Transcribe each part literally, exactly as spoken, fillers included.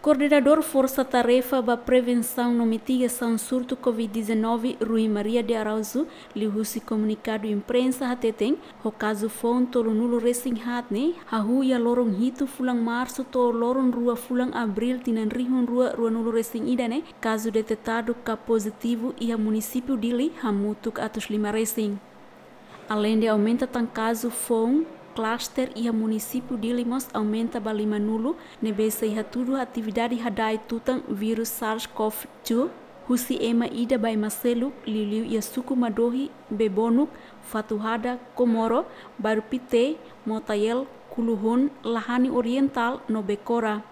Koordenadór Forsa Tarefa ba Prevensaun no Mitigasaun Surtu Covid-19, Rui Maria de Araújo, liuhusi komunikadu imprensa hateten, ho kazu foun tolunulu-resin-haat ne'e, hahú iha loron hitu fulan Marsu to'o loron rua fulan Abríl tinan rihun rua ruanulu-resin-ida ne'e, kazu detetadu ka pozitivu iha munisípiu Dili hamutuk atus lima resin. Aleinde aumenta tan kazu foun, klaster iha munisípiu Dili mós aumenta ba limanulu, ne'ebé sei hatudu atividade hada'et tutan vírus SARS-CoV-dois husi ema ida ba ema seluk, liuliu iha suku Madohi, Bebonuk, Fatuhada, Comoro, Bairru Pité, Motael, Kuluhun, Lahani Orientál no Becora.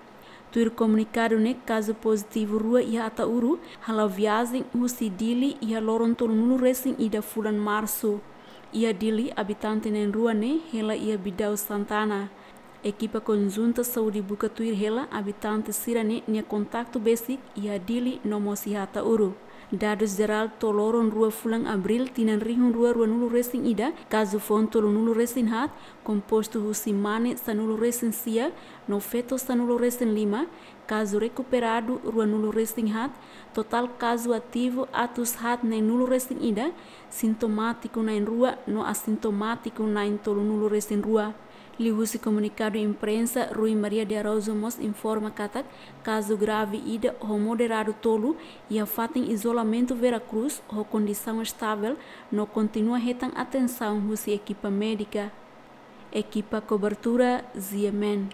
Tuir komunikadu ne'e, kazu pozitivu rua iha Ataúru hala'o viajen husi Dili iha loron tolunulu-resin-ida fulan Marsu. Iha Dili, abitante na'in-rua ne'e hela iha Bidau Santana. Ekipa konjunta saúde buka tuir hela abitante sira-ne'e nia kontaktu besik iha Dili no mós iha Ataúru. Dadus jerál to'o loron rua fulan Abríl tinan rihun rua ruanulu-resin-ida, kazu foun tolunulu-resin-haat, kompostu husi mane sanulu-resin-sia no feto sanulu-resin-lima, kazu rekuperadu ruanulu-resin-haat, totál kazu ativu atus haat na'in-nulu-resin-ida, sintomátiku na'in-rua no asintomátiku na'in-tolunulu-resin-rua. Liuhusi komunikadu imprensa, Rui Maria de Araújo mós informa katak, kazu grave ida ho moderadu tolu iha fatin izolamentu Vera Cruz ho kondisaun estavel no kontinua hetan atensaun husi ekipa médika. Ekipa kobertura, G M N.